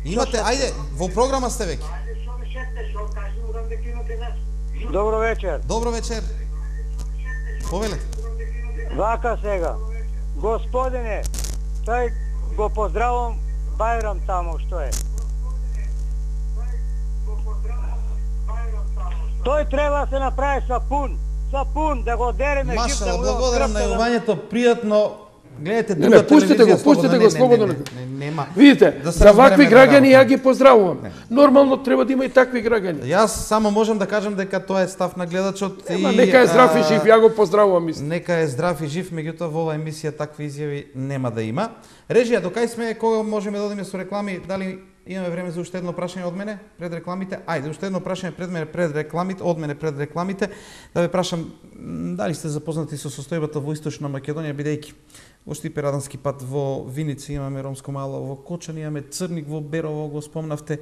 Имате, ајде, во програма сте веќе. Добро вечер. Добро вечер. Повелете. Вака сега. Господине, тој го поздравам Бајрам таму што е. Тој треба да се направи сапун да го дереме Машала, гипта. благодарам на јавањето, пријатно. Гледате Не, друга пустите телевизија. го, пустите го слободно. Нема. Видите, Да се за вакви разбереме граѓани на ја ги поздравувам. Нормално треба да има и такви граѓани. Јас само можам да кажам дека тоа е став на гледачот Ема, нека е здрав и жив, ја го поздравувам исто. Нека е здрав и жив, меѓутоа во оваа емисија такви изјави нема да има. Режија, докај сме, кога можеме да одиме со реклами, дали имаме време за уште едно прашање од мене пред рекламите? Ајде, уште едно прашање пред мене пред рекламите, од мене пред рекламите, да ве прашам дали сте запознати со состојбата во Источна Македонија, бидејќи во Штипе-Радански пат во Виница имаме ромско мало, во Кочани имаме Црник, во Берово го спомнавте.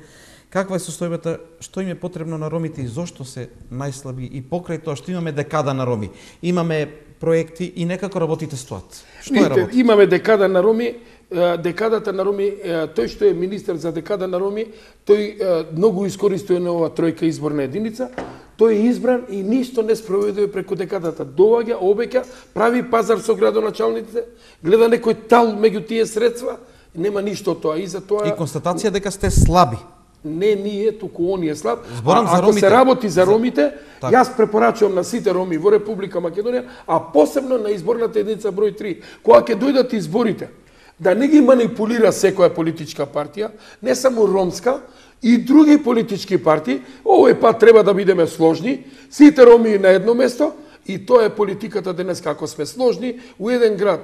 Каква е состојбата, што им е потребно на ромите и зошто се најслаби и покрај тоа што имаме декада на роми, имаме проекти и некако работите стоат. Што е работа? Имаме декада на роми, декадата на роми, тој што е министер за декада на роми, тој многу искористува на ова тројка изборна единица, тој е избран и ништо не спроведува преку декадата. Доаѓа, обеќа, прави пазар со градоначалниците, гледа некој тал меѓу тие средства, нема ништо од тоа. И за тоа И констатација дека сте слаби. не ние, туку он е слаб. Зборам за ако ромите. се работи за ромите, Така. јас препорачувам на сите роми во Република Македонија, а посебно на изборната единица број 3, кога ќе дојдат изборите, да не ги манипулира секоја политичка партија, не само ромска, и други политички партии, овој пат треба да бидеме сложни, сите роми на едно место, и тоа е политиката денес, како сме сложни, у еден град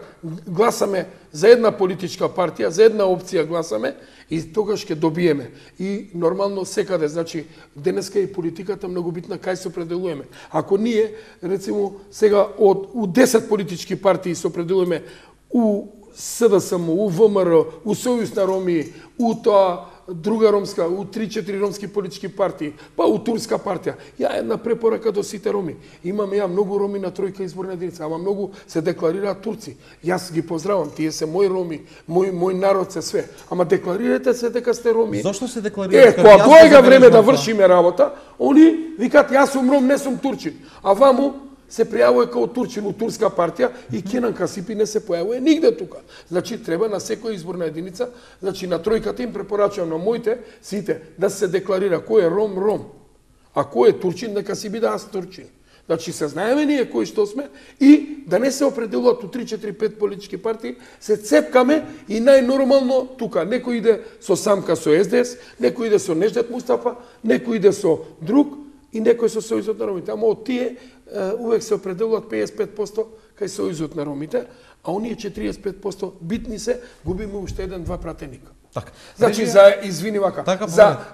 гласаме за една политичка партија, за една опција гласаме, и тогаш ќе добиеме. И нормално секаде, значи, денеска и политиката многу битна кај се определуваме. Ако ние, рецимо, сега у 10 политички партии се определуваме у СДСМ, у ВМРО, у Сојуз на роми, у тоа друга ромска, у 3-4 ромски политички партии, па у турска партија. Ја една препорака до сите роми. Имаме ја многу роми на тројка изборна единица, ама многу се декларираат турци. Јас ги поздравам, тие се мои роми, мој народ се све. Ама декларирате се дека сте роми. Зошто се декларирате? Кога доаѓа време да вршиме работа, они викат јас сум ром, не сум турчин. А ваму се пријавува као турчин у турска партија и Кенан Касипи не се појавува нигде тука. Значи треба на секоја изборна единица, значи на тројката им препорачувам на моите сите да се декларира кој е ром, ром. А кој е турчин, нека си биде аз турчин. Значи се знаеме ние кои што сме и да не се определуваат у 3-4-5 политички партии, се цепкаме и најнормално тука. Некој иде со Самка со СДС, некој иде со Неждет Мустафа, некој иде со друг и некој со Сојузот на ромите. Ама од тие увек се определуваат 55% кај Сојузот на ромите, а оние 45% битни се, губиме уште еден-два пратеника. Така. Значи, извини вака, така,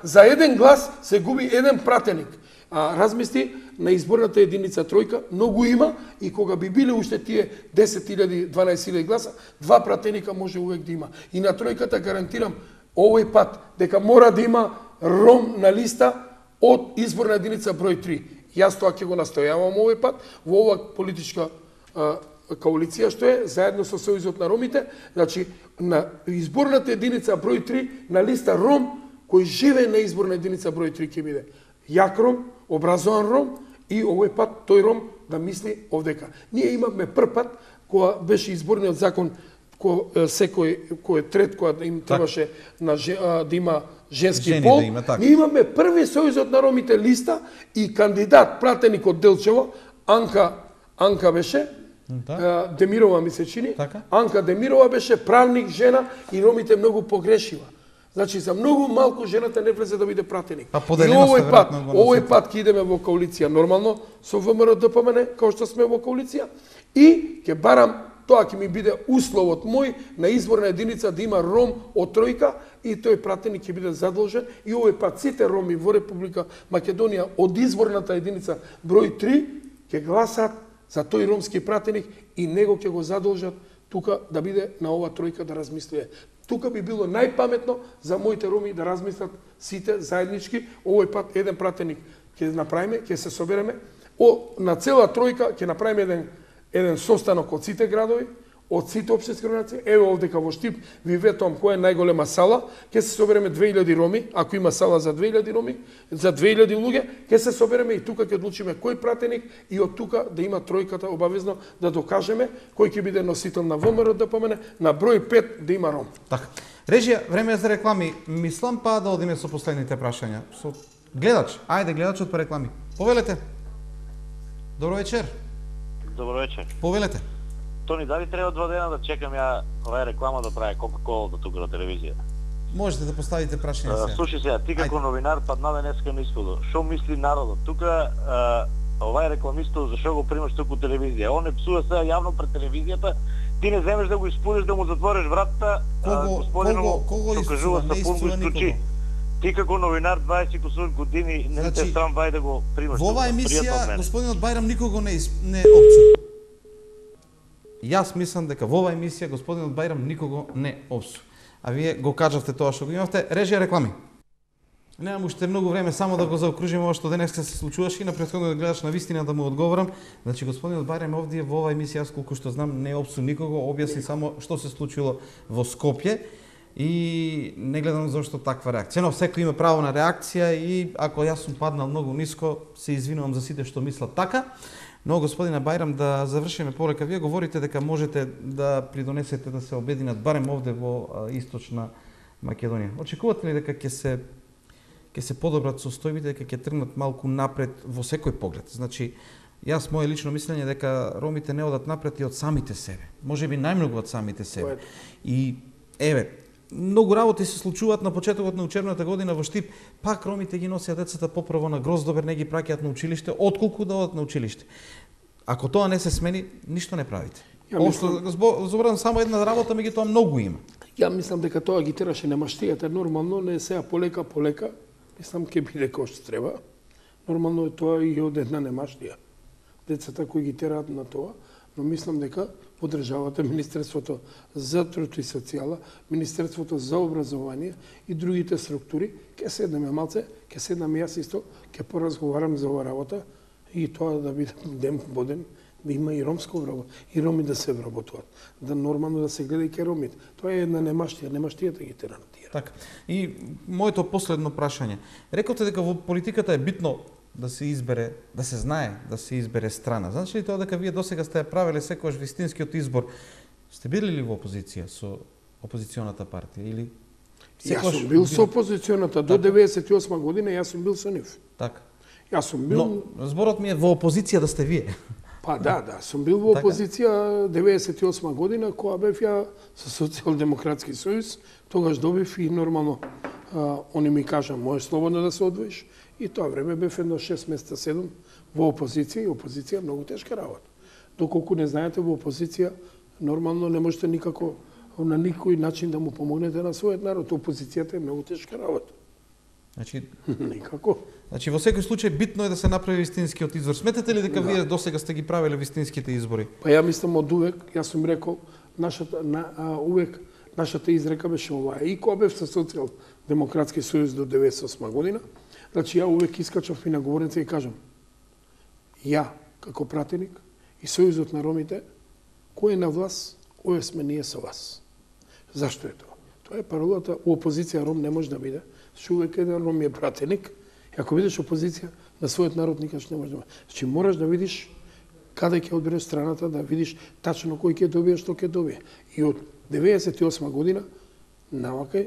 за еден глас се губи еден пратеник. Размисли, на изборната единица тројка многу има и кога би биле уште тие 10.000, 12.000 гласа, два пратеника може увек да има. И на тројката гарантирам овој пат дека мора да има ром на листа од изборна единица број 3. Јас тоа ќе го настојавам овој пат во ова политичка коалиција што е заедно со Сојузот на ромите, значи на изборната единица број 3 на листа ром кој живее на изборна единица број 3 ќе биде јак ром, образован ром и овој пат тој ром да мисли овдека. Ние имавме прв пат кога беше изборниот закон секој кој трет кога им требаше да има женски пол, ние имаме први Сојузот на ромите листа и кандидат пратеник од Делчево, Анка беше, Демирова ми се чини, Анка Демирова беше правник, жена и ромите многу погрешива. Значи за многу малку жената не влезе да биде пратеник. И овој пат ќе идеме во коалиција нормално со ВМРО ДПМН, како што сме во коалиција, и ќе барам, тоа ќе ми биде условот мој на изборна единица да има ром од тројка и тој пратеник ќе биде задолжен и овој пат сите роми во Република Македонија од изборната единица број 3 ќе гласат за тој ромски пратеник и него ќе го задолжат тука да биде на ова тројка да размислува. Тука би било најпаметно за моите роми да размислат сите заеднички. Овој пат еден пратеник ќе направиме, ќе се собереме. На цела тројка ќе направиме еден состанок од сите градови, од сите општински организации. Еве овдека во Штип ви ветувам која е најголема сала, ќе се собереме 2000 роми, ако има сала за 2000 роми, за 2000 луѓе, ќе се собереме и тука ќе одлучиме кој пратеник и од тука да има тројката обавезно да докажеме кој ќе биде носител на ВМРО ДПМН, на број 5 да има ром. Така. Режија, време е за реклами. Мислам па да одиме со последните прашања. Со гледач, ајде гледачот по реклами. Повелете. Добро вечер. Добро вечер. Повелете. Тони, дали треба 2 дена да чекам ја оваа реклама да прави Кока-Кола тука на телевизија? Можете да поставите прашање сега. Слушај сега, ти како новинар падна денеска на исподу. Шо мисли народот? Тука овај рекламистот зашо го примаш туку телевизија? Он не псува сега јавно пред телевизијата, ти не земеш да го испудиш, да му затвориш вратата, господино што кажува сапун го исклучи. Ти како новинар 20 кусур години не те срам вај да го примаш. Во оваа емисија господинот Бајрам никого не опсува. Јас мислам дека во оваа емисија господинот Бајрам никого не опсува. А вие го кажавте тоа што го имавте. Режија реклами. Немам уште многу време само да го заокружиме ова што денеска се случуваше и на претходниот гледач на вистина да му одговорам. Значи господинот Бајрам овде во оваа емисија, јас колку што знам, не опсува никого, објасни само што се случило во Скопје и не гледам зашто таква реакција. Но секој има право на реакција и ако јас сум паднал многу ниско, се извинувам за сите што мислат така. Но господине Бајрам, да завршиме полека. Вие говорите дека можете да придонесете да се обединат барем овде во Источна Македонија. Очекувате ли дека ќе се подобрат состојбите, дека ќе тргнат малку напред во секој поглед? Значи, јас мое лично мислење дека ромите не одат напред и од самите себе. Можеби најмногу од самите себе. И еве, многу работи се случуваат на почетокот на учебната година во Штип, пак ромите ги носеат децата поправо на Гроздобер, не ги праќаат на училиште, отколку да одат на училиште. Ако тоа не се смени, ништо не правите. Зборам само една работа, меѓутоа многу има. Ја мислам дека тоа ги тераше немаштијата, нормално не сега полека, мислам ќе биде кој што треба. Нормално е тоа и од една немаштија. Децата кои ги тераат на тоа, но мислам дека подржавате Министерството за труд и социјала, Министерството за образование и другите структури, ќе седнеме малце, ќе седнам јас исто, ќе поразговарам за оваа работа и тоа да биде ден по ден, да има и ромско вработа, и роми да се вработуваат, да нормално да се гледа и ке ромите. Тоа е една немаштијата ги тера на тие. Така. И моето последно прашање. Рековте дека во политиката е битно да се избере, да се знае да се избере страна. Значи ли тоа дека вие досега сте ја правеле секогаш вистинскиот избор? Сте били ли во опозиција со опозиционата партија или Јас сум бил со опозиционата до 98 година, јас сум бил со нив. Така. Јас сум бил. Но зборот ми е во опозиција да сте вие. Па да, сум бил во опозиција 98 година, кога бев ја со Социјалдемократски сојуз, тогаш добив и нормално они ми кажа, можеш слободно да се одвоиш. И тоа време бев едно 6 месеца 7 во опозиција и опозиција многу тешка работа. Доколку не знаете, во опозиција нормално не можете никако на никој начин да му помогнете на својот народ. Опозицијата е многу тешка работа. Значи никако. Значи во секој случај битно е да се направи вистинскиот избор. Сметате ли дека вие досега сте ги правеле вистинските избори? Па ја мислам од увек, јас сум рекол, увек нашата изрека беше оваа. И кога бев со Социјалдемократски сојуз до 98 година, значи ја увек искачав и на говорница и кажам, ја како пратеник и Сојузот на ромите, кој е на власт, овие сме ние со вас. Зашто е тоа? Тоа е паролата, у опозиција ром не може да биде, што увек еден ром е пратеник, и ако видиш опозиција на својот народ никаш не може да биде. Значи мораш да видиш каде ќе одбереш страната, да видиш тачно кој ќе добие, што ќе добие. И од 98 година навака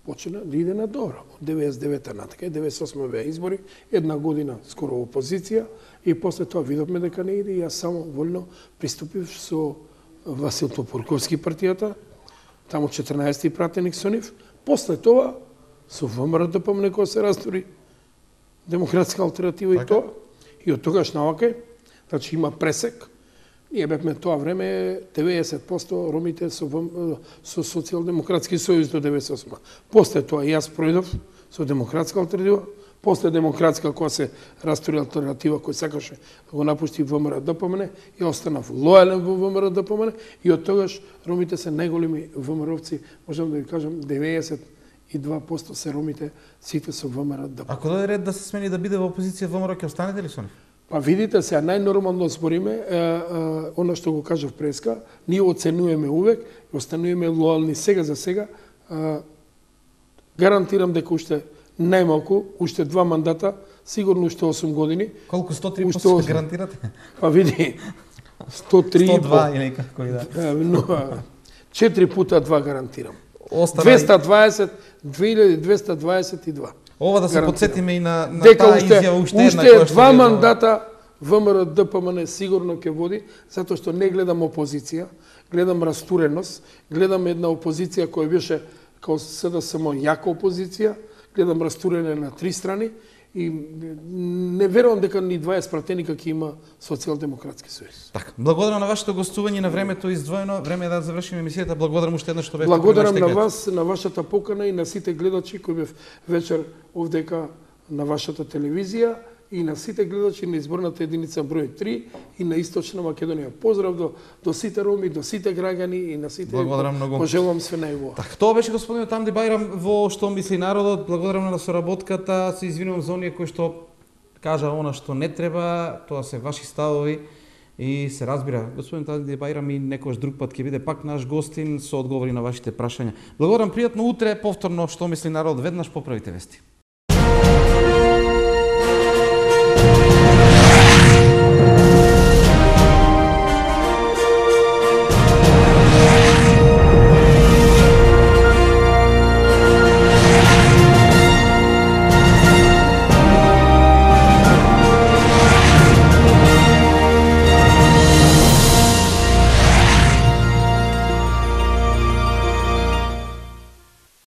почна да иде на добро. Од 99-та натака, 98 беа избори, една година скоро опозиција и после тоа видовме дека не иде и јас само вольно приступив со Васил Топурковски партијата, таму 14-ти пратеник со нив. После тоа со ВМРО ДПМН кога се растури Демократска алтернатива и тоа. И од тогаш навака, значи има пресек. Ние бевме тоа време 90% ромите со Социјалдемократски сојуз до 98. После тоа јас пројдов со Демократска алтернатива, после Демократска кога се растури алтернатива кој сакаше да го напушти ВМРО ДПМН и останав лојален во ВМРО ДПМН и од тогаш ромите се најголеми ВМРО-вци, можам да ви кажам 92% се ромите сите со ВМРО ДПМН. Ако дојде ред да се смени да биде во опозиција ВМРО, ќе останете ли со нив? Па видите, сега најнормално збориме, она што го кажав преска, ние оценуваме увек, и остануваме лојални сега за сега. Гарантирам дека уште најмалку, уште 2 мандата, сигурно уште 8 години. Колку 103 се гарантирате? Па види, 103 102 или како и да. 4 пута 2 гарантирам. 2222. Ова да се подсетиме и на дека таа изјава уште една која која што 2 мандата ВМРО ДПМН сигурно ќе води, затоа што не гледам опозиција, гледам растуреност, гледам една опозиција која беше као СДСМ јака опозиција, гледам растурене на 3 страни и не верувам дека ни 20 пратеника ќе има Социјалдемократски сојуз. Така, благодарам на вашето гостување, на времето издвоено. Време е да завршиме емисијата. Благодарам уште еднаш што бевте. Благодарам на вас, на вашата покана и на сите гледачи кои бев вечер овдека на вашата телевизија и на сите гледачи на изборната единица број 3 и на Источна Македонија. Поздрав до сите роми, до сите граѓани и на сите. Благодарам многу. Пожелувам све најубаво. Така, тоа беше господинот Тамди Бајрам во Што мисли народот. Благодарам на соработката. Се извинувам за оние кои што кажа она што не треба, тоа се ваши ставови и се разбира. Господин Тамди Бајрам и некојаш друг пат ќе биде пак наш гостин со одговори на вашите прашања. Благодарам, пријатно утре, повторно Што мисли народот, веднаш поправите вести.